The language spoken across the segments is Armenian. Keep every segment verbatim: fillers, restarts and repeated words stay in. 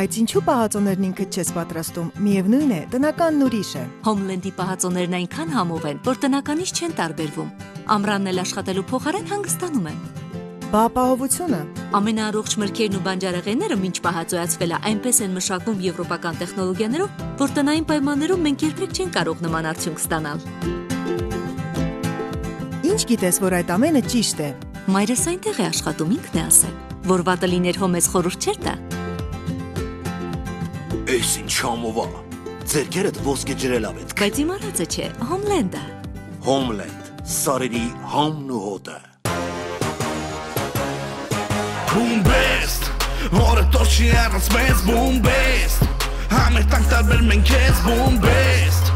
Բայց ինչու պահածոներն ինքդ չես պատրաստում, միևնույն է, տնականն ուրիշ է։ Հոմլենդի պահածոներն այնքան համով են, որ տնականից չեն տարբերվում։ Ամռանն էլ աշխատելու փոխարեն հանգստանում եմ։ Բա ապահովությունը։ Ամենաառողջ մրգերն ու բանջարեղենները մինչ պահածոյացվել է այնպես են մշակվում եվրոպական տեխնոլոգիաներով, որ տնային պայմաններում մենք երբեք չենք կարող նման արդյունք ստանալ։ Ինչ գիտես, որ այդ ամենը ճիշտ է։ Մայրս այնտեղ է աշխատում, ինքն է ասել, որ վատը լիներ հո մեզ խորհուրդ չէր տա։ Էս ինչ համով է։ Ձերքերդ ոսկե ջրելա պետք։ Բայց իմ արածը չէ, Հոմլենդը։ Հոմլենդ, սարերի համն ու հոտը։ Boom-best, որը տորչի առանց մեզ boom-best, համեր տանք տարբեր մենք ես boom-best,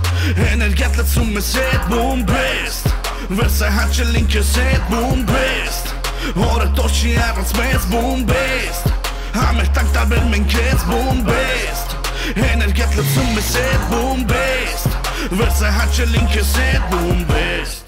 էներգիատ լծում ես հետ boom-best, վերսը հաչել ինք ես հետ boom-best, որը տորչի առանց մեզ boom-best, համեր տանք տարբեր մենք ես boom-best, էներգիատ լծում ես հետ boom-best, վերսը հաչել ինք ես հետ boom-best.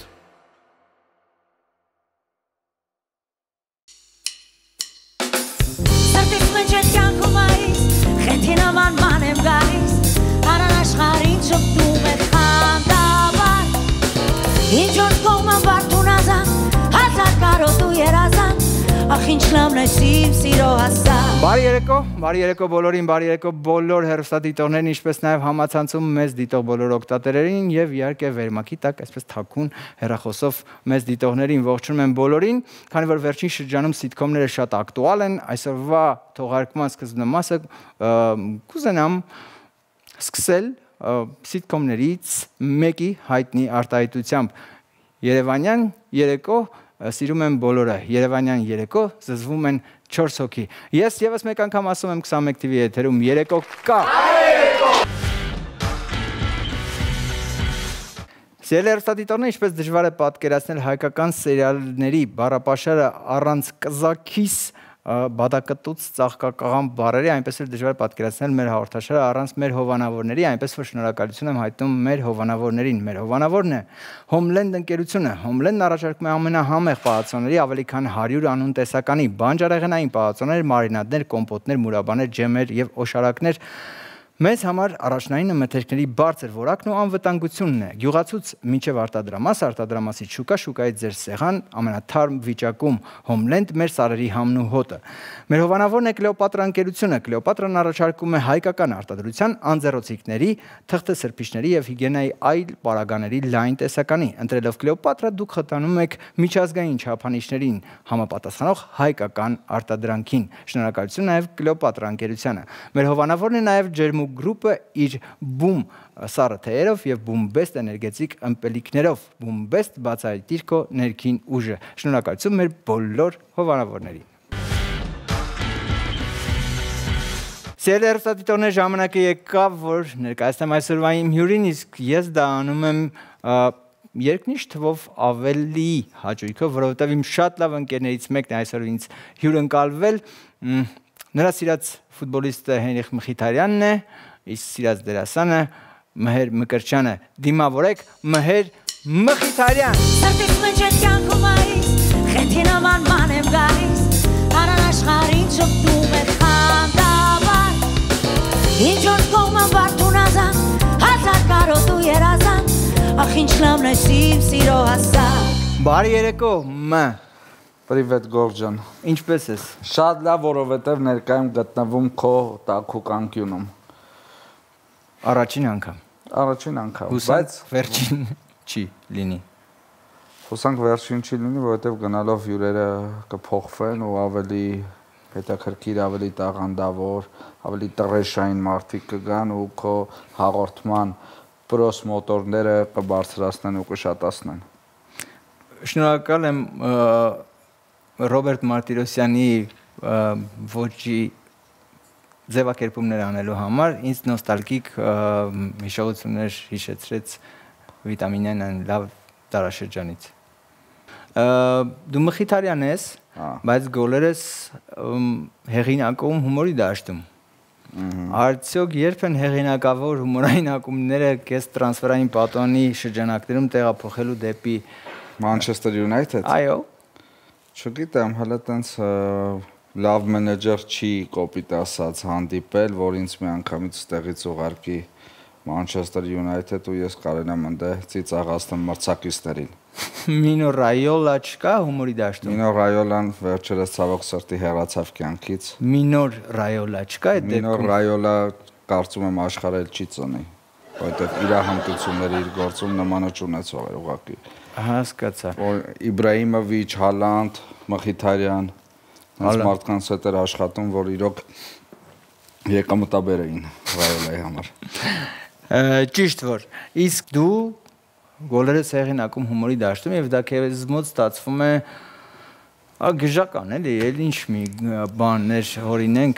Բարի երեկո, բարի երեկո բոլորին, բարի երեկո բոլոր հեռուստադիտողներին, ինչպես նաև համացանցում մեզ դիտող բոլոր օգտատերերին եւ իհարկե վերմակի տակ այսպես թաքուն հեռախոսով մեզ դիտողներին ողջունում եմ բոլորին, քանի որ վերջին շրջանում սիթքոմները շատ ակտուալ են, այսօրվա թողարկման սկզբնա մասը կուզենամ սկսել սիթքոմներից մեկի հայտնի արտահայտությամբ Երևանյան երեկո սիրում եմ բոլորը, Երևանյան երեկո զզվում են չորս հոգի։ Ես եւս մեկ անգամ ասում եմ քսանմեկ թիվի եթերում երեկո կա։ Սիրելի հեռուստադիտողներ, ինչպես դժվար է պատկերացնել հայկական սերիալների բառապաշարը առանց կզաքիս բադակտուց ծաղկակաղան բառերի, այնպես էլ դժվար պատկերացնել մեր հաղորդաշարը առանց մեր հովանավորների, այնպես որ շնորհակալություն եմ հայտնում մեր հովանավորներին։ Մեր հովանավորն է Հոմլենդ ընկերությունը։ Հոմլենդն առաջարկում է ամենահամեղ պահածոների ավելի քան հարյուր անուն տեսականի բանջարեղենային պահածոներ, մարինադներ, կոմպոտներ, մուրաբաներ, ջեմեր եւ օշարակներ։ Մեզ համար առաջնայինը մթերքների բարձր որակն ու անվտանգությունն է։ Գյուղացուց մինչև արտադրամաս, արտադրամասից շուկա, շուկայից ձեր սեղան, ամենաթարմ վիճակում Հոմլենդ մեր սարերի համն ու հոտը։ Մեր հովանավորն է Կլեոպատրա ընկերությունը։ Կլեոպատրան առաջարկում է հայկական արտադրության անձեռոցիկների, թղթե սրբիչների եւ հիգիենայի այլ պարագաների լայն տեսականի։ Ընտրելով Կլեոպատրա դուք խթանում եք միջազգային չափանիշներին համապատասխանող հայկական արտադրանքին։ Շնորհակալություն նաեւ Կլեոպատրա ընկերությանը։ Մեր հովանավորն է նաեւ Ջերմու գրուպը իր բում սառը թեյերով եւ բումբեստ էներգետիկ ըմպելիքներով, բումբեստ բացահայտիր քո ներքին ուժը։ Շնորհակալություն մեր բոլոր հովանավորներին։ Սիրելի հեռուստադիտողներ, ժամանակը եկավ, որ ներկայացնեմ այսօրվա իմ հյուրին, իսկ ես դա անում եմ երկնիշ թվով ավելի հաճույքով, որովհետև իմ շատ լավ ընկերներից մեկն է այսօր ինձ հյուրընկալվել, նրա սիրած ֆուտբոլիստը Հենրիխ Մխիթարյանն է, իսկ սիրած դերասանը Մհեր Մկրտչյանը։ Դիմավորեք Մհեր Մխիթարյան։ Սրտից մեջ են կյանքում այս, խենթին աման ման եմ գալիս, արան աշխարհին շփվում է խանդավար, ինչ որ կողմը վարդուն ազան, հազար կարոտ ու երազան, ախ ինչ լավն է սիվ սիրո հասակ։ Բարի երեկո, Մ. Պրիվետ Գորջան։ Ինչպես ես։ Շատ լավ, որովհետև ներկայում գտնվում քո տաքուկ անկյունում։ Առաջին անգամ։ Առաջին անգամ, բայց վերջին չի լինի։ Հուսանք վերջին չի լինի, որովհետև գնալով հյուրերը կփոխվեն ու ավելի հետաքրքիր, ավելի տաղանդավոր, ավելի տրեշային մարդիկ կգան ու քո հաղորդման պրոս մոտորները կբարձրացնեն ու կշատացնեն։ Շնորհակալ եմ Ռոբերտ Մարտիրոսյանի ոճի ձևակերպումներ անելու համար, ինձ նոստալգիկ հիշողություններ հիշեցրեց վիտամինային լավ տարաշրջանից։ Դու Մխիթարյան ես, բայց գոլերս հեղինակում հումորի դաշտում։ Արդյոք երբ են հեղինակավոր հումորային ակումբները կես տրանսֆերային պատոնի շրջանակներում տեղափոխելու դեպի Manchester United։ Այո։ Չգիտեմ, հələ տենց լավ մենեջեր չի կոպիտ ասած հանդիպել, որ ինձ մի անգամից ստեղից ուղարկի Manchester United ու ես կարենամ ընդ ծիծաղացնեմ մրցակիցներին։ Մինո Ռայոլա չկա հումորի դաշտում։ Մինո Ռայոլան վերջերս ցավոք սրտի հեռացավ կյանքից։ Մինոր Ռայոլա չկա այդ դեպքում։ Մինոր Ռայոլա կարծում եմ աշխարհել չի ծնի, որովհետև իր հմտությունները իր գործում նմանը չունեցող էր ուղղակի։ Հասկացա։ Իբրահիմովիչ, Հալանդ, Մխիթարյան, այս մարդկանց հետ էր աշխատում, որ իրոք եկամտաբեր էին Ռայոլայի համար։ Ճիշտ որ, իսկ դու գոլերը հեղինակում հումորի դաշտում եւ դա քեզ մոտ ստացվում է գժական էլի, էլ ինչ մի բաներ հորինենք,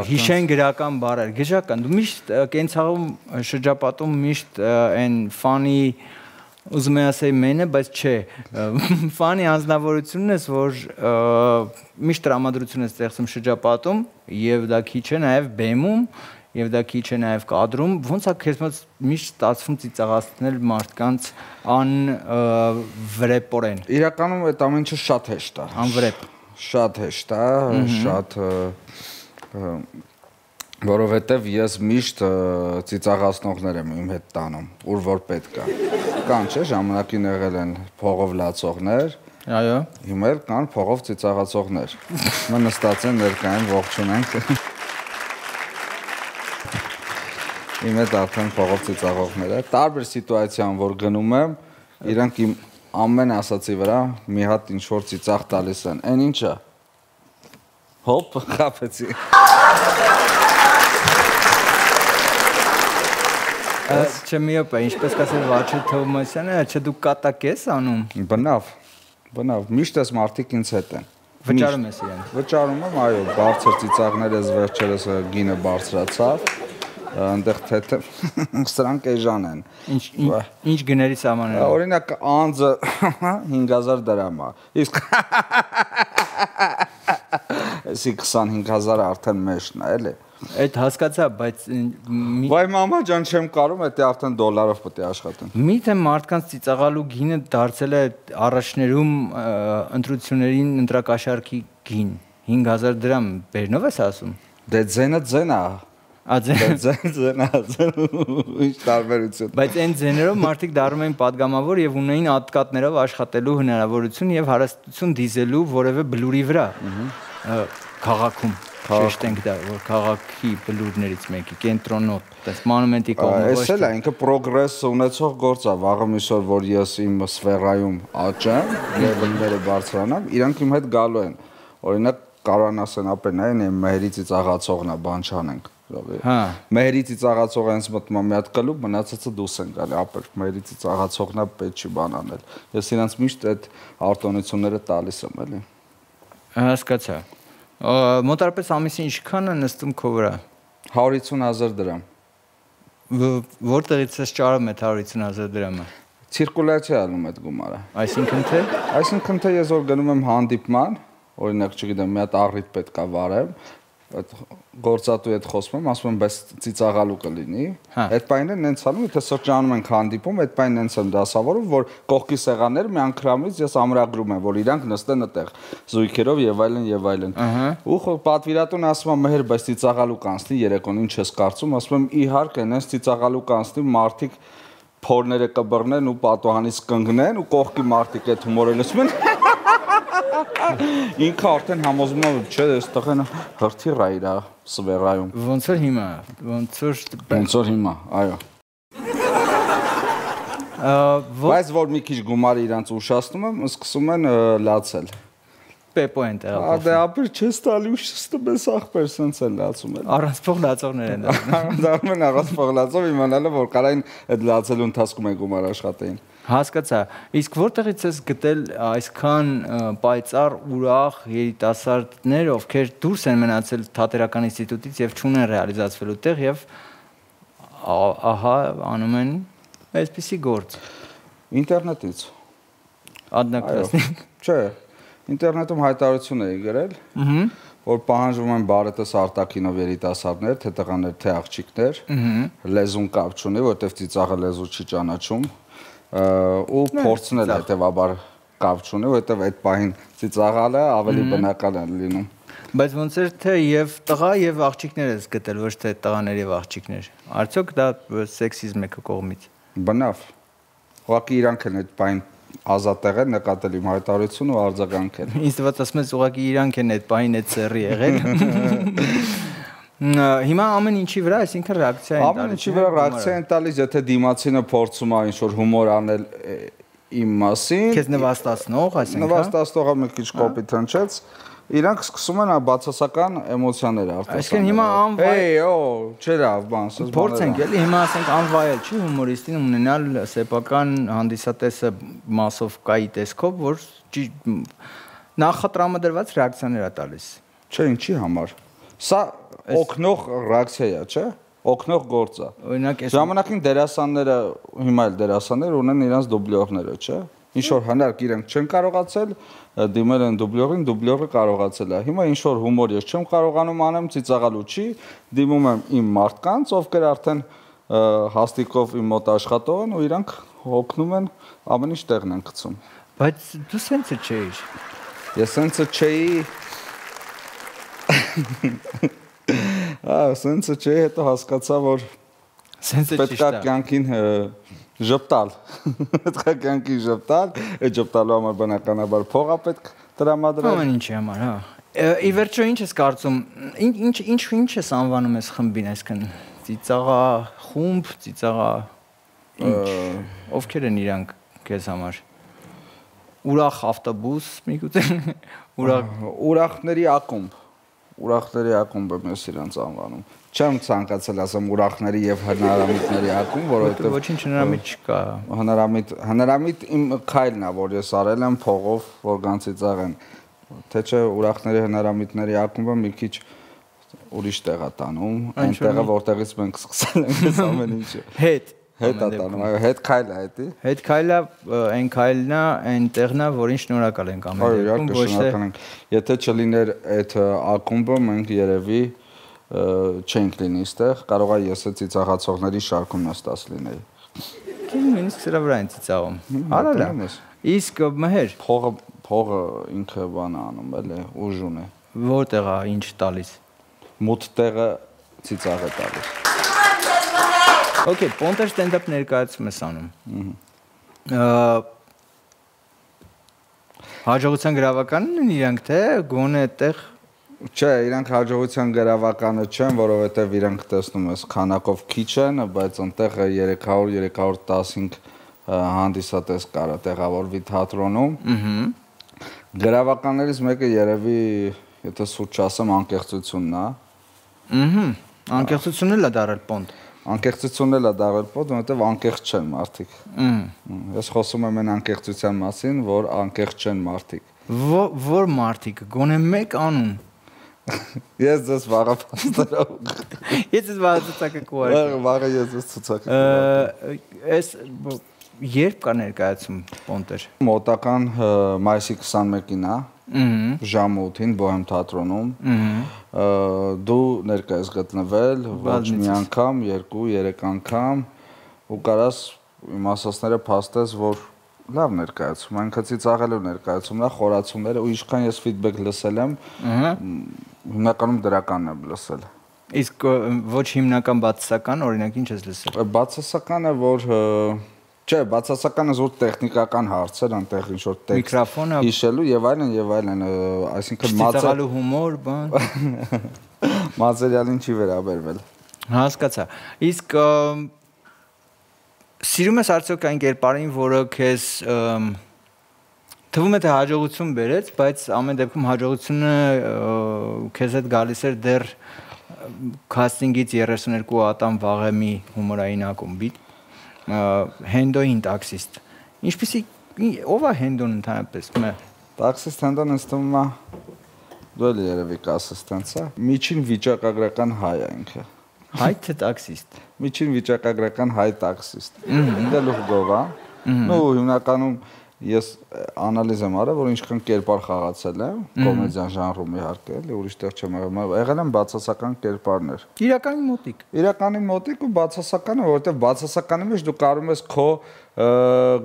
հիշեն գրական բառեր, գժական։ Դու միշտ կենցաղում շրջապատում միշտ այն ֆանի ուզում եմ ասել մենը, բայց չէ, ֆանի անձնավորությունն ես, որ միշտ տրամադրություն ես ստեղծում շրջապատում եւ դա քիչ է նաեւ բեմում եւ դա քիչ է նաեւ կադրում, ոնց է քեզ մոտ միշտ ստացվում ծիծաղացնել մարդկանց անվրեպորեն։ Իրականում այդ ամեն ինչը շատ հեշտ է։ Անվրեպ։ Շատ հեշտ է, շատ որովհետեւ ես միշտ ծիծաղացնողներ եմ իմ հետ տանում, ուր որ պետք է։ Կան չէ, ժամանակին եղել են փողով լացողներ, այո, հիմա էլ կան փողով ծիծաղացողներ։ Մենք նստած են ներկայում ողջունենք։ Իմ հետ արդեն փողով ծիծաղողները, տարբեր սիտուացիան, որ գնում եմ, իրանք իմ ամեն ասացի վրա մի հատ ինչ որ ծիծաղ տալիս են։ Այն ինչա։ Հոպ, խափեցի։ Չէ մի օպա, ինչպես կասել Վաչե Թովմասյանը, չէ դու կատակ ես անում։ Բնավ, բնավ, միշտ ես մարդիկ ինձ հետ են։ Վճարում ես իրենց։ Վճարում եմ, այո, բարձր ծիծաղներ ես վերջերս գինը բարձրացավ, այնտեղ թեթև սրանք էժան են։ Ինչ ինչ գների սահմանները։ Օրինակ անձը հինգ հազար դրամ է։ Իսկ էսի քսանհինգ հազարը արդեն մեջն է, էլի։ Այդ հասկացա, բայց Վայ մամա ջան, չեմ կարում, դա արդեն դոլարով պետք է աշխատեն։ Միթե մարդկանց ծիծաղալու գինը դարձել է առաջներում ընտրություններին ընտրակաշարքի գին։ հինգ հազար դրամ բերնով ես ասում։ Դե ձենը ձեն է։ Աձեն ձեն է։ Ինչ տարբերություն։ Բայց այն ձեներով մարդիկ դառնում էին падգամավոր եւ ունեին ատկատներով աշխատելու հնարավորություն եւ հարստություն դիզելու որևէ բլուրի վրա։ Քաղաքում շեշտենք դա, որ քաղաքի բլուրներից մեկի կենտրոնոտ, այս մանումենտի կողմը ոչ։ Էս էլ է, ինքը պրոգրես ունեցող գործ է, վաղը միսօր, որ ես իմ սֆերայում աճեմ, լեվելները բարձրանամ, իրանք իմ հետ գալու են։ Օրինակ կարան ասեն ապեն այն մերի ծիծաղացողն է, բան չանենք։ Հա։ Մերի ծիծաղացողը հենց մտնում մի հատ կլուբ, մնացածը դուրս են գալի, ապեր մերի ծիծաղացողն է, պետք չի բան անել։ Ես իրանց միշտ այդ արտոնությունները տալիս եմ, էլի։ Հասկացա։ Մոտարպես ամիսին ինչքան է նստում քո վրա։ հարյուր հիսուն հազար դրամ։ Որտեղից ես ճարում այդ հարյուր հիսուն հազար դրամը։ Ցիրկուլյացիա անում այդ գումարը։ Այսինքն թե։ Այսինքն թե ես որ գնում եմ հանդիպման, օրինակ չգիտեմ, մի հատ առիթ պետք է վարեմ, այդ գործատուի հետ խոսում եմ, ասում եմ, բայց ծիծաղալու կլինի։ Այդ բանը նենց անում, եթե սրճանում ենք հանդիպում, այդ բանը նենց եմ դասավորում, որ կողքի սեղաններ մի անգամից ես ամրագրում եմ, որ իրանք նստեն այդտեղ զույգերով եւ այլն եւ այլն։ Ու պատվիրատուն ասում է, մեհեր, բայց ծիծաղալու կանցնի երեկոն, ինչ ես կարծում, ասում եմ, իհարկե, նենց ծիծաղալու կանցնի, մարդիկ փորները կբռնեն ու պատուհանից կընկնեն ու կողքի մարդիկ այդ հումորը լսում են։ Ինքը արդեն համոզում է, չէ, այստեղ են հրթիռ է իր սվերայում։ Ոնց որ հիմա, ոնց որ ոնց որ հիմա, այո։ Բայց որ մի քիչ գումարը իրանց ուշացնում եմ, սկսում են լացել։ Պեպո են տեղափոխվում։ Դե ապեր չես տալի ուշստը մեզ ախպեր սենց են լացում են։ Առանց փող լացողներ են դառնում։ Դառնում են առանց փող լացող իմանալը, որ կարային այդ լացելու ընթացքում են գումար աշխատեին։ Հասկացա։ Իսկ որտեղից ես գտել այսքան պայծառ, ուրախ երիտասարդներ, ովքեր դուրս են մնացել Թատերական ինստիտուտից եւ չունեն ռեալիզացվելու տեղ եւ ահա անում են այսպիսի գործ։ Ինտերնետից։ Ադնակրասնիկ։ Չէ, ինտերնետում հայտարարություն էի գրել, որ պահանջվում են բարետես արտաքինով երիտասարդներ, թե տղաներ, թե աղջիկներ, լեզուն կապ չունի, որովհետեւ ծիծաղը լեզու չի ճանաչում։ Ու փորձն էլ հետեւաբար կապ չունի, որովհետեւ այդ պահին ծիծաղալը ավելի բնական է լինում։ Բայց ոնց էր թե եւ տղա եւ աղջիկներ ես գտել, ոչ թե տղաներ եւ աղջիկներ։ Արդյոք դա սեքսիզմ է քո կողմից։ Բնավ։ Ուղղակի իրանք են այդ բան ազատեղ են նկատել իմ հայտարարությունը ու արձագանքել։ Ինձ թվաց ասում ես ուղղակի իրանք են այդ բանին այդ սերի եղել։ Հիմա ամեն ինչի վրա, այսինքն ռեակցիա են տալիս։ Ամեն ինչի վրա ռեակցիա են տալիս, եթե դիմացինը փորձում է ինչ-որ հումոր անել իմ մասին։ Քեզ նվաստացնող, այսինքն։ Նվաստացնողը մի քիչ կոպիտ հնչեց։ Իրանք սկսում են բացասական էմոցիաներ արտասանել։ Այսինքն հիմա անվայել։ Էй, օ, չերավ, բան, ասես բաներ։ Փորձենք էլի, հիմա ասենք անվայել չի հումորիստին ունենալ սեփական հանդիսատեսը մասովկայի տեսքով, որ նախատրամադրված ռեակցիաներ է տալիս։ Չէ, ինչի համար։ Սա օգնող ռեակցիա է, չէ՞։ Օգնող գործ է։ Օրինակ, ժամանակին դերասանները, հիմա էլ դերասաններ ունեն իրենց դուբլյորները, չէ՞։ Ինչ որ հնարք իրենք չեն կարողացել, դիմել են դուբլյորին, դուբլյորը կարողացել է։ Հիմա ինչ որ հումոր ես չեմ կարողանում անեմ, ծիծաղալու չի, դիմում եմ իմ մարդկանց, ովքեր արդեն հաստիկով իմ մոտ աշխատող են ու իրանք օգնում են, ամեն ինչ տեղն են գցում։ Բայց դու սենցը չէիր։ Ես սենցը չէի։ Ահա, սենցը չէի, հետո հասկացա, որ սենցը ճիշտ է։ Պետք է կյանքին ժպտալ։ Պետք է կյանքին ժպտալ, այդ ժպտալու համար բնականաբար փող է պետք տրամադրել։ Ամեն ինչի համար, հա։ Ի վերջո ինչ ես կարծում, ինչ ինչ ինչ ես անվանում ես խմբին, այսքան ծիծաղա խումբ, ծիծաղա ինչ, ովքեր են իրանք քեզ համար։ Ուրախ ավտոբուս, միգուցե ուրախ ուրախների ակումբ, ուրախների ակումբը ես իրանց անվանում։ Չեմ ցանկացել ասեմ ուրախների եւ հնարամիտների ակումբ, որովհետեւ ոչինչ հնարամիտ չկա։ Հնարամիտ, հնարամիտ իմ քայլն է, որ ես արել եմ փողով, որ գանցի ծաղեն։ Թե չէ ուրախների հնարամիտների ակումբը մի քիչ ուրիշ տեղ է տանում, այն տեղը, որտեղից մենք սկսել ենք այս ամեն ինչը։ Հետ Հետ է տանում, այո, հետ քայլ է դա։ Հետ քայլը, այն քայլն է, այն տեղն է, որին շնորհակալ ենք ամեն դեպքում, ոչ թե եթե չլիներ այդ ակումբը, մենք երևի չենք լինի այստեղ, կարող է ես այդ ծիծաղացողների շարքում նստած լինեի։ Նույնիսկ սրա վրա են ծիծաղում։ Արալա։ Իսկ մհեր փողը փողը ինքը բան է անում, էլի, ուժուն է։ Որտեղ է, ինչ տալիս։ Մութ տեղը ծիծաղ է տալիս։ Okay, Պոնտեր ստենդափ ներկայացում ես անում։ Հաջողության գրավականն են իրանք թե գոնե այդտեղ Չէ, իրանք հաջողության գրավականը չեն, որովհետև իրանք տեսնում ես քանակով քիչ են, բայց այնտեղ երեք հարյուր երեք հարյուր տասնհինգ հանդիսատես կարա տեղավորվի թատրոնում։ Գրավականներից մեկը երևի, եթե սուրճ չասեմ, անկեղծությունն է։ Ահա, անկեղծությունն էլ է դարել Պոնտ։ Անկեղծությունն էլ է դարել Պոնտ, որովհետև անկեղծ չեն մարդիկ։ Ես խոսում եմ այն անկեղծության մասին, որ անկեղծ չեն մարդիկ։ Որ մարդիկ, գոնե մեկ անուն։ Ես ձեզ վաղը փաստերով։ Ես ես վաղը ցուցակը կուղարկեմ։ Վաղը ես ձեզ ցուցակը կուղարկեմ։ Այս երբ կա ներկայացում Պոնտեր։ Մոտական մայիսի քսանմեկին է։ Ժամը ութին Բոհեմ թատրոնում։ Դու ներկա ես գտնվել ոչ մի անգամ, երկու, երեք անգամ ու կարաս իմ ասածները փաստես, որ լավ ներկայացում, այնքան ծիծաղելու ներկայացումն է, խորացումները ու ինչքան ես ֆիդբեք լսել եմ, հիմնականում դրականն եմ լսել։ Իսկ ոչ հիմնական բացասական, օրինակ ինչ ես լսել։ Բացասականը, որ չէ, բացասականը զուտ տեխնիկական հարցեր, այնտեղ ինչ որ տեքստ միկրոֆոնը հիշելու եւ այլն եւ այլն, այսինքն ծիծաղալու հումոր, բան։ Մատերիալին չի վերաբերվել։ Հասկացա։ Իսկ սիրում ես արդյոք այն կերպարին, որը քեզ թվում է թե հաջողություն բերեց, բայց ամեն դեպքում հաջողությունը քեզ հետ գալիս էր դեռ քաստինգից երեսուներկու ատամ Վաղեմի հումորային ակումբի Հենդոին տաքսիստ։ Ինչպեսի ով է Հենդոն ընդհանրապես։ Տաքսիստ Հենդոն ինձ թվում է դու էլ երևի կասես տենց է։ Միջին վիճակագրական հայ է ինքը։ Հայ թե տաքսիստ։ Միջին վիճակագրական հայ տաքսիստ։ Դելուխ գովա։ Նու հիմնականում ես անալիզ եմ արել, որ ինչքան կերպար խաղացել եմ, կոմեդիան ժանրում իհարկե, էլի ուրիշ տեղ չեմ եղել, եղել եմ բացասական կերպարներ։ Իրականի մոտիկ։ Իրականի մոտիկ ու բացասականը, որովհետև բացասականի մեջ դու կարող ես քո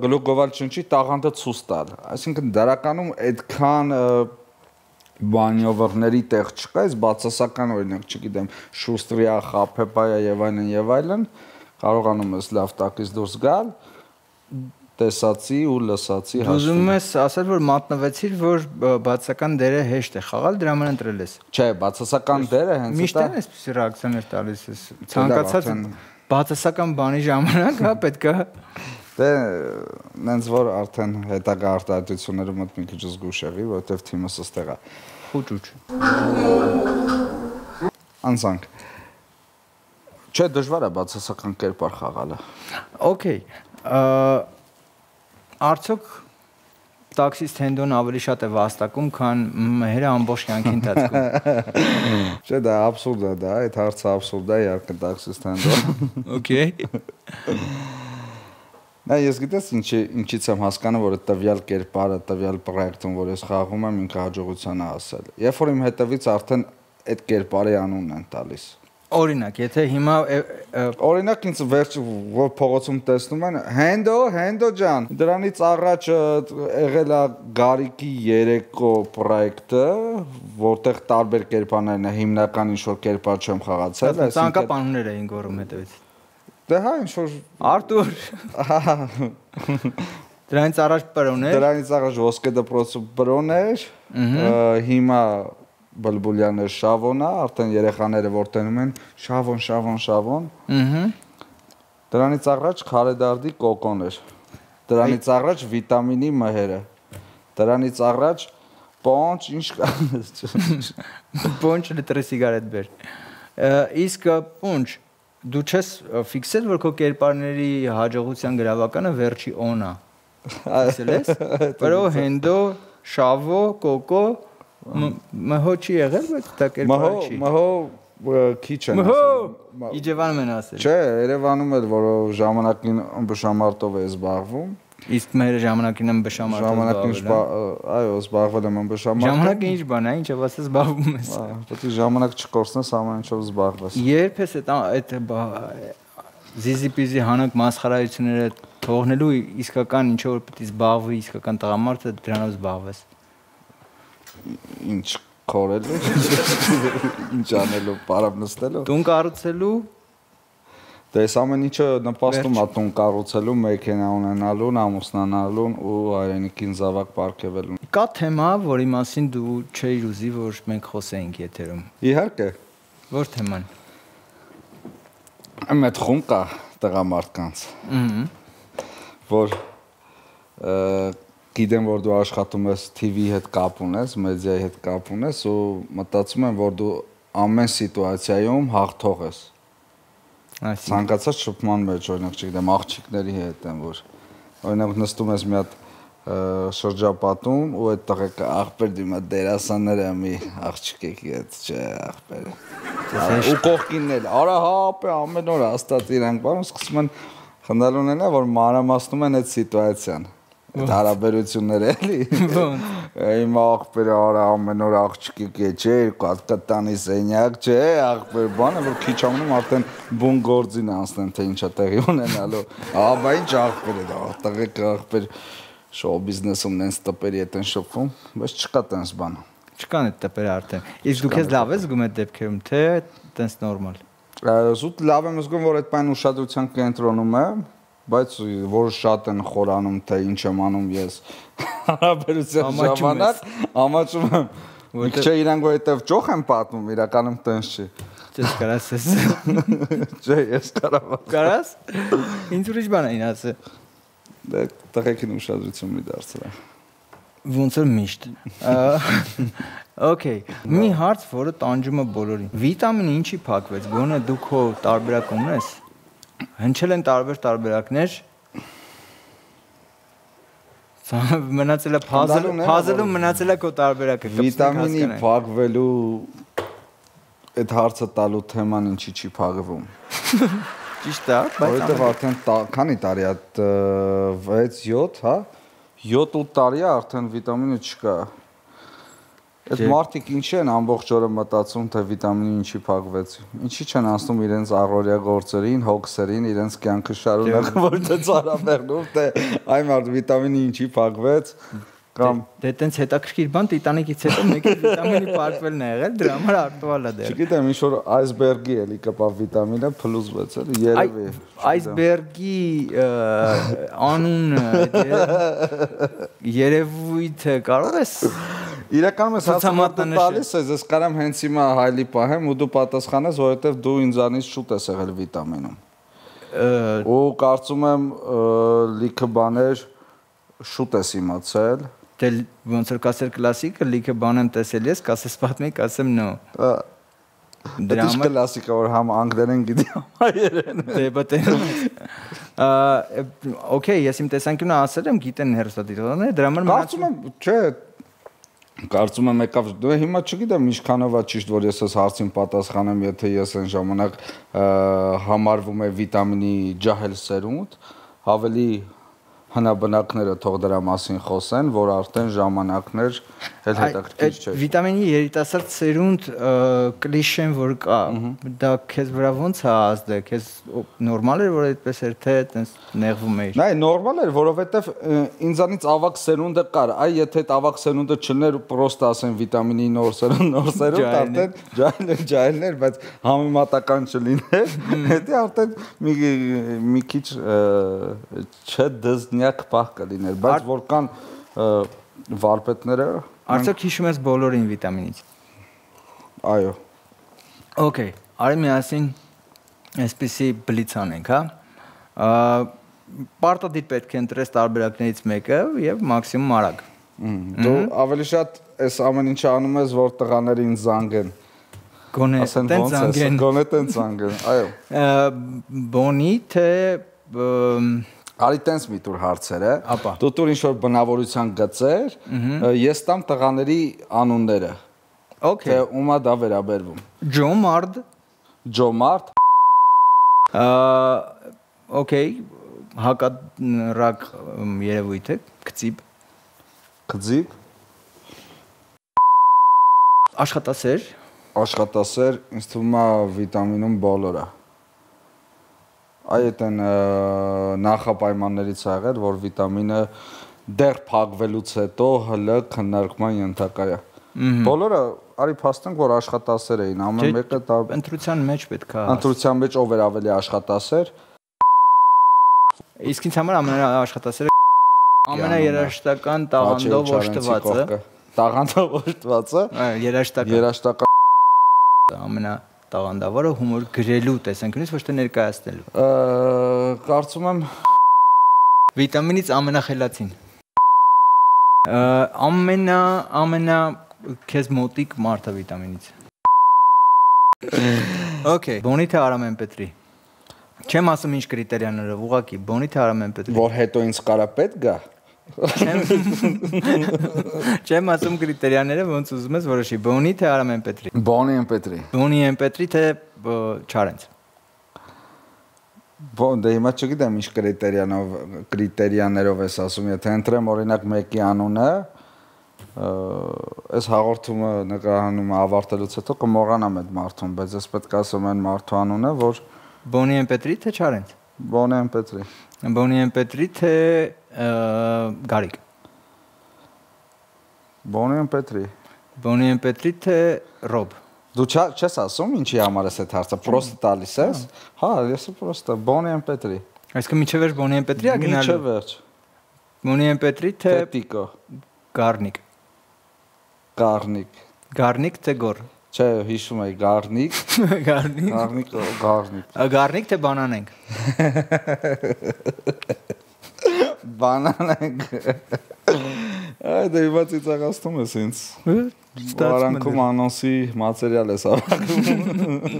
գլուխ գովալ չնչի տաղանդը ցույց տալ։ Այսինքն դարականում այդքան բանյովերների տեղ չկա, այս բացասական օրինակ, չգիտեմ, շուստրիա, խափեպայա եւ այլն եւ այլն, կարողանում ես լավ տակից դուրս գալ, տեսածի ու լսածի հաշվին։ Ուզում ես ասել, որ մատնվեցիր, որ բացասական դերը հեշտ է խաղալ, դրա համար ընտրել ես։ Չէ, բացասական դերը հենց միշտ է այսպեսի ռեակցիաներ տալիս ես։ Ցանկացած բացասական բանի ժամանակ, հա, պետք է Դե նենց որ արդեն հետագա արտահայտությունները մոտ մի քիչ զգուշ եղի, որովհետև թիմս ըստեղ է։ Խուճուճ։ Անցանք։ Չէ, դժվար է բացասական կերպար խաղալը։ Okay։ Արդյոք տաքսիստ Հենդոն ավելի շատ է վաստակում, քան մհերը ամբողջ կյանքի ընթացքում։ Չէ, դա աբսուրդ է, դա, այդ հարցը աբսուրդ է, իհարկե տաքսիստ Հենդոն։ Okay։ Նա ես գիտես ինչի ինչից եմ հասկանում, որ տվյալ կերպարը, տվյալ պրոյեկտում, որ ես խաղում եմ, ինքը հաջողության է ասել։ Երբ որ իմ հետևից արդեն այդ կերպարի անունն են տալիս։ Օրինակ, եթե հիմա օրինակ ինձ վերջ որ փողոցում տեսնում են Հենդո, Հենդո ջան, դրանից առաջ եղել է Գարիկի երեկո պրոյեկտը, որտեղ տարբեր կերպարներն է, հիմնական ինչ-որ կերպար չեմ խաղացել, այսինքն ցանկապանուներ էին գոռում հետևից։ Դե հա, ինչ-որ Արտուր։ Դրանից առաջ պրոն էր։ Դրանից առաջ ոսկե դպրոցը պրոն էր, հիմա Բլբուլյանը Շավոնա, արդեն երեխաները որ տենում են Շավոն, Շավոն, Շավոն։ Ահա։ Դրանից առաջ Խարեդարդի կոկոն էր։ Դրանից առաջ վիտամինի մհերը։ Դրանից առաջ պոնչ, ինչ կա։ Պոնչ լիտրի սիգարետ բեր։ Իսկ պոնչ դու չես ֆիքսել, որ քո կերպարների հաջողության գրավականը վերջի օնա։ Ասել ես։ Պրո, Հենդո, Շավո, կոկո Մհո չի եղել, բայց դա կերպար չի։ Մհո քիչ են ասել։ Իջևանում են ասել։ Չէ, Երևանում էլ, որ ժամանակին ըմբշամարտով է զբաղվում։ Իսկ մեր ժամանակին ըմբշամարտով ժամանակին այո, զբաղվել եմ ըմբշամարտով։ Ժամանակը ինչ բան է, ինչով ասես զբաղվում ես։ Պետք է ժամանակ չկորցնես, ամեն ինչով զբաղվես։ Երբ ես այդ զիզիպիզի հանակ մասխարայությունները թողնելու իսկական ինչ որ պետք է զբաղվի, իսկական տղամարդը դրանով զբաղվես։ Ինչ քորելու, ինչ անելու, պարապ նստելու։ Տուն կառուցելու։ Դե այս ամեն ինչը նպաստում է տուն կառուցելու, մեքենա ունենալու, ամուսնանալուն ու հայրենիքին զավակ պարգևելուն։ Կա թեմա, որի մասին դու չէիր ուզի, որ մենք խոսեինք եթերում։ Իհարկե։ Որ թեման։ Այդ խումբ կա տղամարդկանց։ Ահա։ Որ Գիտեմ, որ դու աշխատում ես T V հետ կապ ունես, մեդիայի հետ կապ ունես ու մտածում եմ, որ դու ամեն սիտուացիայում հաղթող ես։ Ցանկացած շփման մեջ, օրինակ, չգիտեմ, աղջիկների հետ են, որ օրինակ նստում ես մի հատ շրջապատում ու այդ տղեկը աղբեր դիմա դերասանները մի աղջիկի հետ, չէ, աղբերը։ Ու կողքինն էլ, արա հապ է ամեն օր հաստատ իրանք բան, սկսում են խնդալ ունենա, որ մանրամասնում են այդ սիտուացիան։ Այդ հարաբերությունները էլի։ Իմ աղբերը արա ամեն օր աղջիկի կե չէ, երկու հատ կտանի սենյակ, չէ, աղբեր բանը, որ քիչ ամնում արդեն բուն գործին անցնեն, թե ինչա տեղի ունենալու։ Ահա, բա ինչ աղբեր է դա, տղեկ աղբեր շոու բիզնեսում նենց տպերի հետ են շփվում, բայց չկա տենց բան։ Չկան այդ տպերը արդեն։ Իսկ դու քեզ լավ ես զգում այդ դեպքերում, թե տենց նորմալ։ Զուտ լավ եմ զգում, որ այդ բան ուշադրության կենտրոնում եմ, բայց որ շատ են խորանում, թե ինչ եմ անում ես հարաբերության ժամանակ, ամաչում եմ։ Չէ, իրանք որտեվ ճոխ եմ պատմում, իրականում տենց չի։ Չես կարաս ես։ Չէ, ես կարամ։ Կարաս։ Ինչ ուրիշ բան էին ասել։ Դե տղեկին ուշադրություն մի դարձրել։ Ոնց որ միշտ։ Okay, մի հարց, որը տանջում է բոլորին։ Վիտամինը ինչի փակվեց։ Գոնե դու քո տարբերակ ունես։ Հնչել են տարբեր տարբերակներ։ Մնացել է puzzle, puzzle-ում մնացել է քո տարբերակը։ Վիտամինի փակվելու այդ հարցը տալու թեման ինչի չի փակվում։ Ճիշտ է, բայց որովհետև արդեն քանի տարի է վեց յոթ, հա, յոթ-ութ տարի է արդեն վիտամինը չկա։ Այդ մարդիկ ինչի են ամբողջ օրը մտածում, թե վիտամինը ինչի փակվեց։ Ինչի չեն ասում իրենց առօրյա գործերին, հոգսերին, իրենց կյանքը շարունակում, որ դա ծարաբերնում, թե այ մարդ վիտամինը ինչի փակվեց։ Կամ դե տենց հետաքրքիր բան տիտանիկից հետո մեկը վիտամինի պարկվելն է եղել, դրա համար արտուալ է դեռ։ չգիտեմ, ինչ որ այսբերգի էլի կպավ վիտամինը փլուզվեց էլի, երևի։ Այսբերգի անունը, երևույթը կարող ես Իրականում ես հացամատը տալիս ես, ես կարամ հենց հիմա հայլի պահեմ ու դու պատասխանես, որովհետև դու ինձանից շուտ ես եղել վիտամինում։ Ու կարծում եմ լիքը բաներ շուտ ես իմացել։ Դե ոնց որ կասեր կլասիկը, լիքը բան եմ տեսել ես, կասես պատմի, կասեմ նո։ Դրա համար կլասիկա որ համ անգլերեն գիտի, համ հայերեն։ Դե բտեն։ Okay, ես իմ տեսանկյունը ասել եմ, գիտեն հերոստատիտողները, դրա համար կարծում եմ, չէ, կարծում եմ եկավ, դու հիմա չգիտեմ ինչքանով է ճիշտ, որ ես այս հարցին պատասխանեմ, եթե ես այն ժամանակ համարվում է վիտամինի ջահել սերունդ, ավելի հնաբնակները թող դրա մասին խոսեն, որ արդեն ժամանակներ էլ հետաքրքիր չէ։ Վիտամինի երիտասարդ սերունդ կլիշեն որ կա, դա քեզ վրա ոնց է ազդել, քեզ նորմալ էր որ այդպես էր թե այտենց նեղվում էիր։ Նայ, նորմալ էր, որովհետև ինձանից ավակ սերունդը կար, այ եթե այդ ավակ սերունդը չներ, պրոստը ասեն վիտամինի նոր սերունդ, նոր սերունդ արդեն ջահելներ, ջահելներ, բայց համեմատական չլիներ, հետո արդեն մի մի քիչ չէ դզնյակ պահ կլիներ, բայց որքան վարպետները Արդյոք հիշում ես բոլորին վիտամինից։ Այո։ Okay, արի միասին այսպեսի բլից անենք, հա։ Պարտադիր պետք է ընտրես տարբերակներից մեկը եւ մաքսիմում արագ։ Դու ավելի շատ այս ամեն ինչը անում ես, որ տղաներին զանգեն։ Գոնե տենց զանգեն։ Գոնե տենց զանգեն, այո։ Բոնի թե Արի տենց մի տուր հարցերը, դու տուր ինչ-որ բնավորության գծեր, ես տամ տղաների անունները, թե ումա դա վերաբերվում։ Ջոմարդ Ջոմարդ Okay, հակառակ երևույթ է, կծիբ Կծիբ Աշխատասեր Աշխատասեր, ինձ թվում է վիտամինում բոլորը Այդ են նախապայմաններից ա եղել, որ վիտամինը դեռ փակվելուց հետո հլը քննարկման ենթակա է։ Բոլորը արի փաստենք, որ աշխատասեր էին, ամեն մեկը ընտրության մեջ պետք է։ Ընտրության մեջ ով էր ավելի աշխատասեր։ Իսկ ինձ համար ամենաաշխատասերը ամենաերաժշտական տաղանդով օժտվածը։ Տաղանդով օժտվածը։ Երաժշտական։ Երաժշտական ամենա տաղանդավորը հումոր գրելու տեսանկյունից ոչ թե ներկայացնելու։ Կարծում եմ վիտամինից ամենախելացին։ Ամենա ամենա քեզ մոտիկ մարդը վիտամինից։ Okay, Բոնի թե Արամեն Պետրի։ Չեմ ասում ինչ կրիտերիաներով, ուղղակի Բոնի թե Արամեն Պետրի։ Որ հետո ինձ կարա պետք գա։ Չեմ ասում կրիտերիաները, ոնց ուզում ես որոշի, Բոնի թե Արամեն Պետրի։ Բոնի են Պետրի։ Բոնի են Պետրի թե Չարենց։ Բոն դե հիմա չգիտեմ ինչ կրիտերիանով կրիտերիաներով ես ասում, եթե ընտրեմ օրինակ մեկի անունը, այս հաղորդումը նկարահանում ավարտելուց հետո կմոռանամ այդ մարդուն, բայց ես պետք է ասեմ այն մարդու անունը, որ Բոնի են Պետրի թե Չարենց։ Բոնի են Պետրի։ Բոնի են Պետրի թե Գարիկ։ Բոնի են Պետրի։ Բոնի են Պետրի թե Ռոբ։ Դու չես ասում ինչի համար ես այդ հարցը, պրոստը տալիս ես։ Հա, ես պրոստը Բոնի են Պետրի։ Այսինքն միջև վերջ Բոնի են Պետրի ա գնալու։ Միջև վերջ։ Բոնի են Պետրի թե Տիկո։ Գառնիկ։ Գառնիկ։ Գառնիկ թե Գոր։ Չէ, հիշում եմ Գառնիկ։ Գառնիկ։ Գառնիկ, Գառնիկ։ Գառնիկ թե բանանենք։ Բանանենք։ Այ դե իվա ծիծաղացնում ես ինձ։ Ստացվում անոնսի մատերիալ ես ավակում։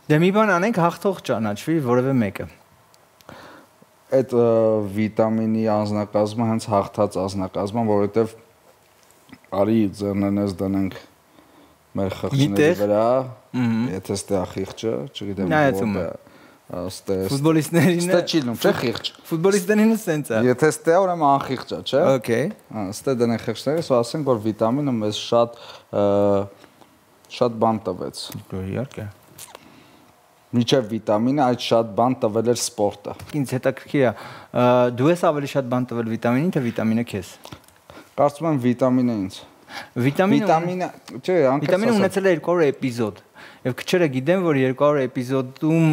Դե մի բան անենք հաղթող ճանաչվի որևէ մեկը։ Այդ վիտամինի անձնակազմը հենց հաղթած անձնակազմը, որովհետև արի ձեռներնես դնենք մեր խղճների վրա, եթե ստե խիղճը, չգիտեմ որտե է։ Աստե ֆուտբոլիստներին ստե չիլնում, չէ խիղճ։ Ֆուտբոլիստերինը սենց է։ Եթե ստե ուրեմն անխիղճ է, չէ։ Okay։ Հա, ստե դնենք խիղճները, սա ասենք որ վիտամինը մեզ շատ շատ բան տվեց։ Իհարկե։ Միջև վիտամինը այդ շատ բան տվել էր սպորտը։ Ինձ հետաքրքիր է, դու ես ավելի շատ բան տվել վիտամինին, թե վիտամինը քեզ։ Կարծում եմ վիտամինը ինձ։ Վիտամինը Վիտամինը, չէ, անկեղծ Վիտամինը ունեցել է երկու հարյուր էպիզոդ։ Եվ քչերը գիտեն, որ երկու հարյուր էպիզոդում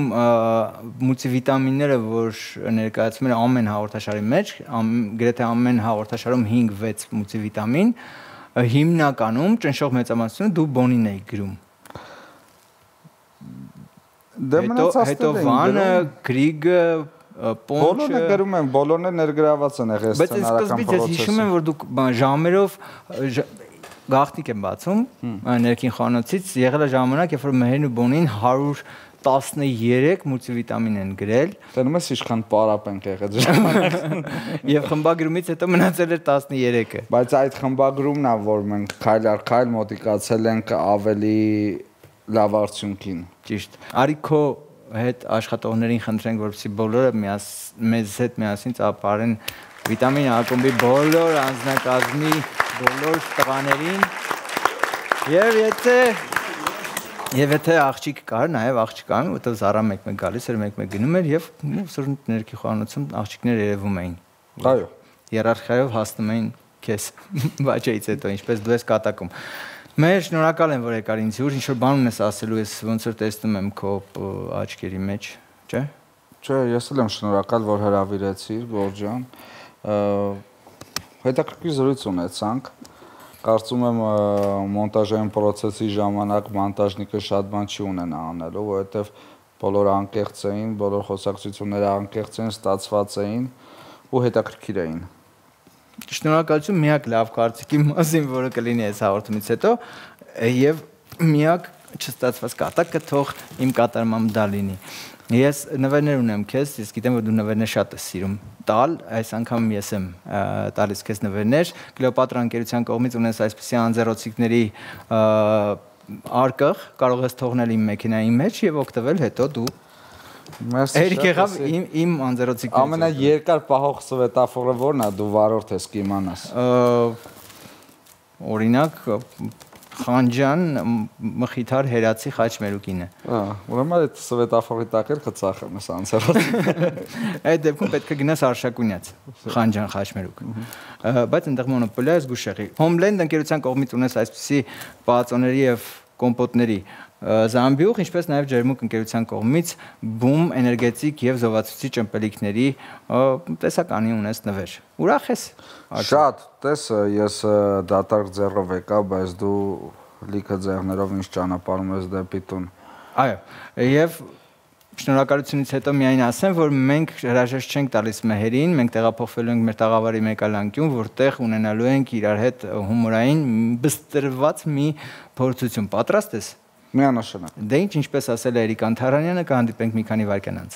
մուլտիվիտամինները, որ ներկայացվում են ամեն հաղորդաշարի մեջ, գրեթե ամեն հաղորդաշարում հինգ-վեց մուլտիվիտամին, հիմնականում ճնշող մեծամասնությունը դու բոնին էի գրում։ Դե մնացածները հետո վանը, գրիգը, պոնչը։ Բոլորը գրում են, բոլորն էլ ներգրաված են եղել սցենարական Բայց ես սկզբից ես հիշում եմ, որ դուք ժամերով գաղտնիք եմ բացում ներքին խանութից, եղել է ժամանակ, երբ որ Մեհերն ու Բոնին հարյուր տասներեք մուլտիվիտամին են գրել։ Տենում ես ինչքան պարապ ենք եղել ժամանակ։ Եվ խմբագրումից հետո մնացել էր տասներեքը։ Բայց այդ խմբագրումն է, որ մենք քայլ առ քայլ մոտիկացել ենք ավելի լավ արդյունքին։ Ճիշտ։ Արի քո հետ աշխատողներին խնդրենք, որպեսզի բոլորը մեզ հետ միասին ծափարեն վիտամին ակումբի բոլոր անձնակազմի բոլոր տղաներին։ Եվ եթե Եվ եթե աղջիկ կար, նաև աղջիկ կան, որտեղ Զարա մեկ-մեկ գալիս էր, մեկ-մեկ գնում էր եւ սրընթ ներքի խոհանոցում աղջիկներ երևում էին։ Այո։ Երարխիայով հասնում էին քեզ բաճեից հետո, ինչպես դու ես կատակում։ Մեր շնորհակալ եմ, որ եկար ինձ յուր, ինչ որ բան ունես ասելու, ես ոնց որ տեսնում եմ քո աչքերի մեջ, չէ՞։ Չէ, ես էլ եմ շնորհակալ, որ հրավիրեցիր, Գորջան։ Հետաքրքիր զրույց ունեցանք։ Կարծում եմ մոնտաժային process-ի ժամանակ մոնտաժնիկը շատ բան չի ունենա անելու, որովհետև բոլոր անկեղծ էին, բոլոր խոսակցությունները անկեղծ էին, ստացված էին ու հետաքրքիր էին։ Շնորհակալություն միակ լավ կարծիքի մասին, որը կլինի այս հաղորդումից հետո, եւ միակ չստացված կատակը թող իմ կատարմամբ դա լինի։ Ես նվերներ ունեմ քեզ, ես գիտեմ, որ դու նվերներ շատ ես սիրում տալ, այս անգամ ես եմ տալիս քեզ նվերներ։ Կլեոպատրա ընկերության կողմից ունես այսպիսի անձեռոցիկների արկղ, կարող ես թողնել իմ մեքենայի մեջ եւ օգտվել հետո դու։ Երեք եղավ իմ իմ անձեռոցիկներից։ Ամենաերկար պահող սվետաֆորը ո՞րն է, դու վարորդ ես կիմանաս։ Օրինակ Խանջան Մխիթար Հերացի Խաչմերուկինը։ Ահա, ուրեմն այդ սվետաֆորի տակ էլ կծախեմ ես անձեռոցիկ։ Այդ դեպքում պետք է գնաս Արշակունյաց, Խանջան Խաչմերուկ։ Բայց այնտեղ մոնոպոլիա է զգուշեղի։ Homeland ընկերության կողմից ունես այսպիսի պաածոների եւ կոմպոտների Զամբյուղ, ինչպես նաև Ջերմուկ ընկերության կողմից բում էներգետիկ եւ զովացուցիչ ըմպելիքների տեսականի ունես նվեր։ Ուրախ ես։ Շատ, տես ես դատարկ ձեռով եկա, բայց դու լիքը ձեռներով ինձ ճանապարհում ես դեպի տուն։ Այո, եւ շնորհակալությունից հետո միայն ասեմ, որ մենք հրաժեշտ չենք տալիս Մեհերին, մենք տեղափոխվելու ենք մեր տաղավարի մեկ այլ անկյուն, որտեղ ունենալու ենք իրար հետ հումորային բստրված մի փորձություն։ Պատրաստ ես։ Միանշանակ։ Դե ինչ, ինչպես ասել է Էրիկ Անթարանյանը, կհանդիպենք մի քանի վայրկյան անց։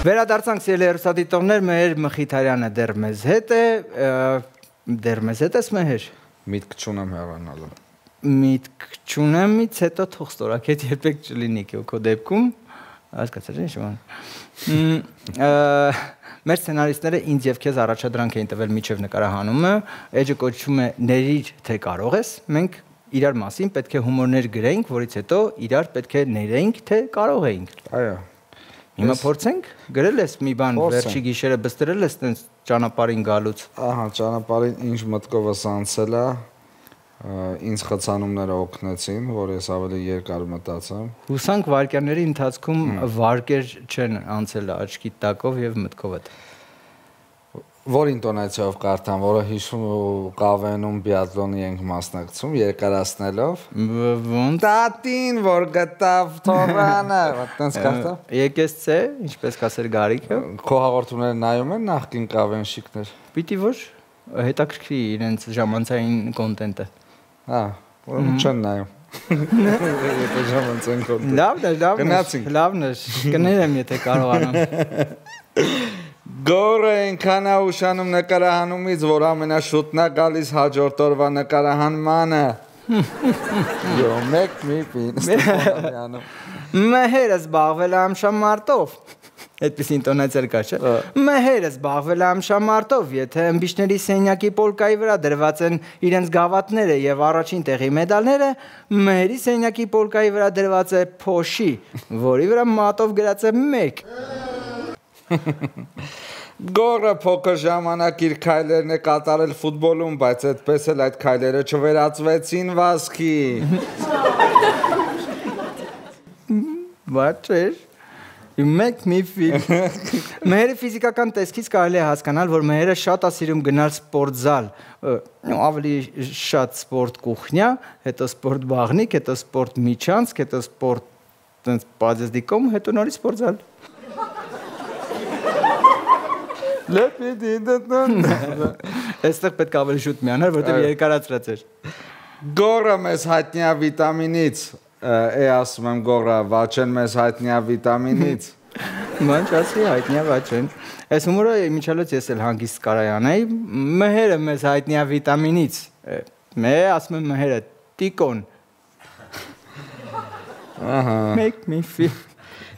Վերադարձանք սիրելի հեռուստադիտողներ, Մեհեր Մխիթարյանը դեռ մեզ հետ է, դեռ մեզ հետ ես Մեհեր։ Միտք չունեմ հեռանալու։ Միտք չունեմից հետո թող ստորակետ երբեք չլինի քո դեպքում, հասկացա՞ր ինչ բան։ Մեր սցենարիստները ինձ եւ քեզ առաջադրանք էին տվել միջև նկարահանումը, էջը կոչվում է «Ներիր թե կարող ես», մենք իրար մասին պետք է հումորներ գրենք, որից հետո իրար պետք է ներենք, թե կարող էինք։ Այո։ Հիմա փորձենք, գրել ես մի բան, վերջի գիշերը բստրել ես տենց ճանապարհին գալուց։ Ահա, ճանապարհին ինչ մտքովս անցել է, ինձ խցանումները օգնեցին, որ ես ավելի երկար մտածեմ։ Հուսանք վարկյանների ընթացքում վարկեր չեն անցել աչքի տակով եւ մտքովդ։ Որ ինտոնացիայով կարդամ, որը հիշում ու կավենում բիատլոնի ենք մասնակցում, երկարացնելով։ Ոնց։ Տատին, որ գտավ թորանը, այդտենց կարդամ։ Եկես ցե, ինչպես կասեր Գարիկը։ Քո հաղորդումները նայում են նախկին կավենշիկներ։ Պիտի որ հետաքրքրի իրենց ժամանցային կոնտենտը։ Հա, ուրեմն չեն նայում։ Եթե ժամանցային կոնտենտ։ Լավն է, լավն է։ Գնացինք։ Լավն է, կներեմ, եթե կարողանամ։ Գորը այնքան է ուշանում նկարահանումից, որ ամենաշուտն է գալիս հաջորդ օրվա նկարահանմանը։ Յո, մեկ մի պին Ստեփանյանը։ Մեհերը զբաղվել է ամշամարտով։ Այդպես ինտոնացիա կա, չէ՞։ Մեհերը զբաղվել է ամշամարտով, եթե ըմբիշների սենյակի պոլկայի վրա դրված են իրենց գավաթները եւ առաջին տեղի մեդալները, մեհերի սենյակի պոլկայի վրա դրված է փոշի, որի վրա մատով գրած է մեկ։ Գորը փոքր ժամանակ իր քայլերն է կատարել ֆուտբոլում, բայց այդպես էլ այդ քայլերը չվերածվեցին վազքի։ What is? You make me feel. Մեհերը ֆիզիկական տեսքից կարելի է հասկանալ, որ մեհերը շատ է սիրում գնալ սպորտզալ, ավելի շատ սպորտ կուխնյա, հետո սպորտ բաղնիկ, հետո սպորտ միջանցք, հետո սպորտ տենց բազեզդիկում, հետո նորից սպորտզալ։ Այստեղ պետք է ավելի շուտ միանալ, որտեղ երկարացրած էր։ Գորը մեզ հայտնի է վիտամինից, է ասում եմ գորը, վաչեն մեզ հայտնի է վիտամինից։ Ման չասի հայտնի է վաչեն։ Այս հումորը միջալոց ես էլ հանգիստ կարայանայի, մեհերը մեզ հայտնի է վիտամինից։ Մե ասում եմ մեհերը, տիկոն։ Make me feel.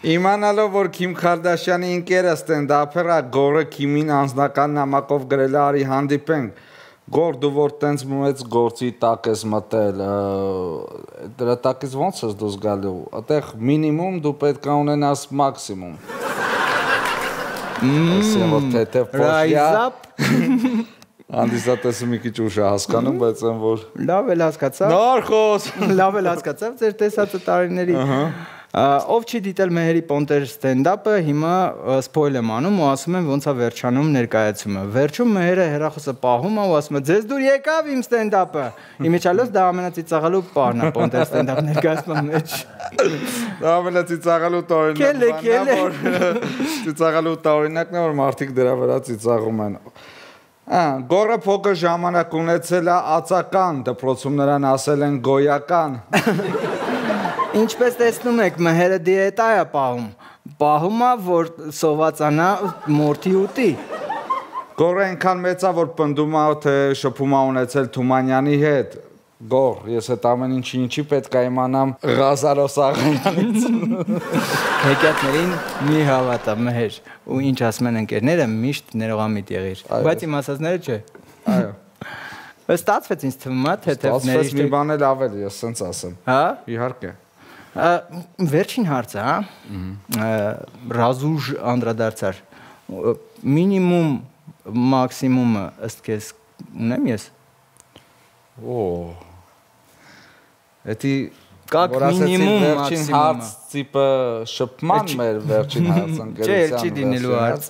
Իմանալով, որ Քիմ Քարդաշյանի ընկերը ստենդափերը գորը Քիմին անձնական նամակով գրել է արի հանդիպենք, գոր դու որ տենց մեծ գործի տակ ես մտել, դրա տակից ոնց ես դուս գալու, այդեղ մինիմում դու պետք է ունենաս մաքսիմում։ Rise up։ Անդիսատեսը մի քիչ ուշ է հասկանում, բայց այն որ լավ էլ հասկացավ։ Նոր խոս։ Լավ էլ հասկացավ ձեր տեսածը տարիների։ Ով չի դիտել մեհերի պոնտեր ստենդափը, հիմա սփոյլ եմ անում ու ասում եմ ոնց է վերջանում ներկայացումը։ Վերջում մեհերը հեռախոսը պահում է ու ասում է ձեզ դուր եկավ իմ ստենդափը։ Իմիջիալոց դա ամենածիծաղալու պահն է պոնտեր ստենդափ ներկայացման մեջ։ Դա ամենածիծաղալու տարօրինակն է, որ ծիծաղալու տարօրինակն է, որ մարդիկ դրա վրա ծիծաղում են։ Գորը փոքր ժամանակ ունեցել է ածական, դպրոցում նրան ասել են գոյական։ Ինչպես տեսնում եք, մեհերը դիետա է պահում, պահում է, որ սովածանա մորթի ուտի։ Գորը այնքան մեծ է, որ պնդում է, թե շփում է ունեցել Թումանյանի հետ։ Գոր, ես այդ ամեն ինչի ինչի պետք է իմանամ Ղազարոս աղայանից։ Հեքիաթներին մի հավատա մեհեր, ու ինչ ասում են ընկերները, միշտ ներողամիտ եղիր, բայց իմ ասածները չէ։ Այո։ Ստացվեց ինձ թվում է, թե Ստացվեց մի բան էլ ավել, ես սենց ասեմ։ Հա։ Իհարկե։ Վերջին հարցը, հա, ռազուժ անդրադարձար, մինիմում մաքսիմումը ըստ քեզ ունեմ ես։ Օ։ Էդի Կակ մինիմում վերջին հարց տիպը շփման մեր վերջին հարցը Չէ, չի դինելու հարց։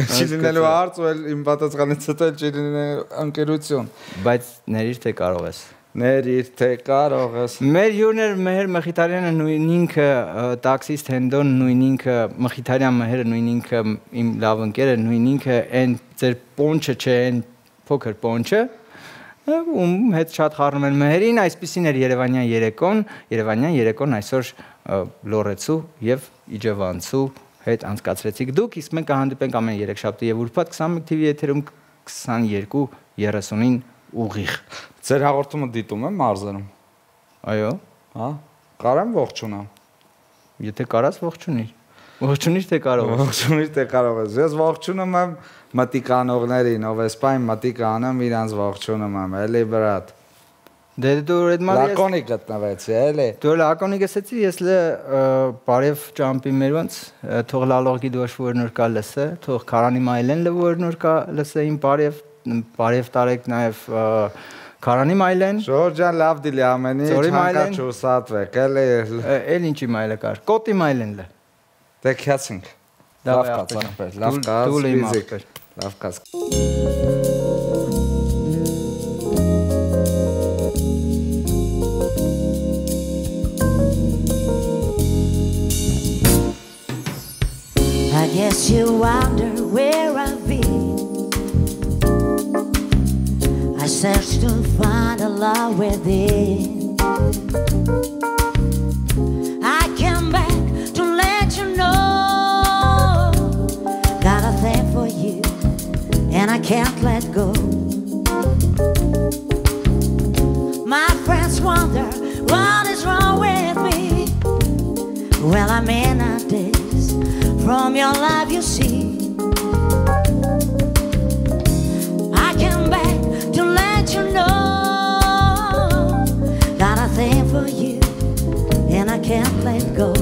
Չի դինելու հարց ու իմ պատասխանից հետո չի դինելու ընկերություն։ Բայց ներիր թե կարող ես։ Ներիր թե կարող ես։ Մեր հյուրներ Մեհեր Մխիթարյանը նույն ինքը տաքսիստ Հենդոն նույն ինքը Մխիթարյան Մեհերը նույն ինքը իմ լավ ընկերը նույն ինքը այն ձեր պոնչը չէ, այն փոքր պոնչը ում հետ շատ խառնում են մեհերին, այսպեսին էր Երևանյան երեկոն, Երևանյան երեկոն այսօր Լորեցու եւ Իջևանցու հետ անցկացրեցիք դուք, իսկ մենք կհանդիպենք ամեն երեքշաբթի եւ ուրբաթ քսանմեկ թիվի եթերում քսաներկու երեսունին ուղիղ։ Ձեր հաղորդումը դիտում եմ մարզերում։ Այո։ Հա, կարամ ողջունամ։ Եթե կարաս ողջունիր։ Ողջունիր թե կարող ես։ Ողջունիր թե կարող ես։ Ես ողջունում եմ մտիկանողներին, ով էսպայն մտիկը անում, իրանց ողջունում եմ, էլի բրատ։ Դե դու այդ մարի լակոնիկ գտնվեցի, էլի։ Դու լակոնիկ ասեցի, ես լը բարև ճամպի մեր ոնց, թող լալողի դոշվոր նոր կա լսե, թող քարանի մայլեն լվոր նոր կա լսե իմ բարև, բարև տարեք նաև քարանի մայլեն։ Ժորժան լավ դիլի ամենի, չանկա չուսատվեք, էլի։ Էլ ինչի մայլը կար, կոտի մայլեն լը։ Դե քյացինք։ Լավ կաց ախպեր, լավ կաց, վիզիկ, լավ կաց։ I guess you wonder where I've been. I searched to find a love within. I came back to let you know. Got a thing for you, and I can't let go. My friends wonder what is wrong with me. Well, I'm in a daze from your life you see. I came back to let you know, got a thing for you, and I can't let go.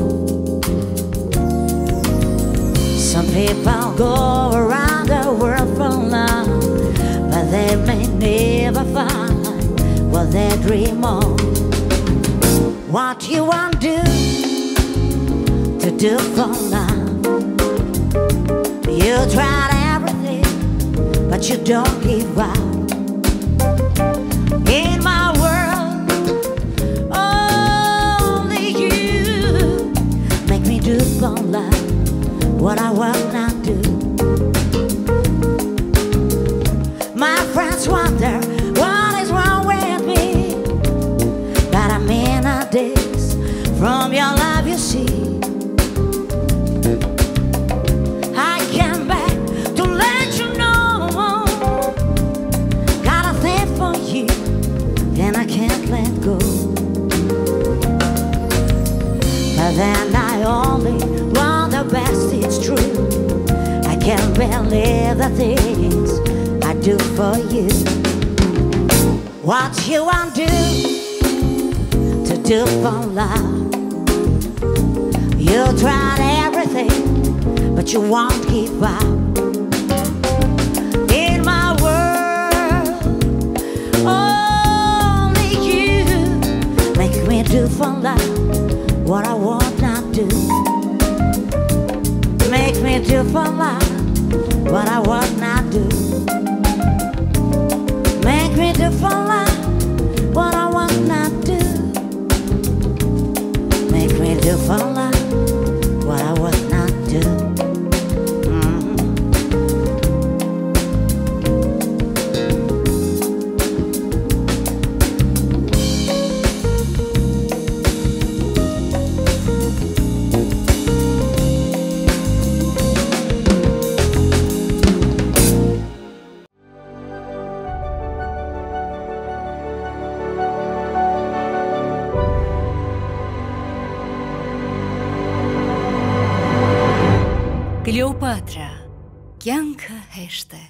Some people go around the world for love, but they may never find what they dream of. What you want to do, to do for love. You tried everything, but you don't give up. In my world, only you make me do for love what I will not do. My friends wonder what is wrong with me, but I'm in a daze from your love you see. I came back to let you know, got a thing for you, and I can't let go. But then I only want the best, it's true. I can't believe the things I do for you. What you want to do, to do for love. You tried everything, but you won't give up. In my world, only you make me do for love what I want not do. Make me do for love what I want not do. Make me do for love what I want not do. Make me do for love what I want not do. Mm-hmm. Կլեոպատրա, կյանքը հեշտ է,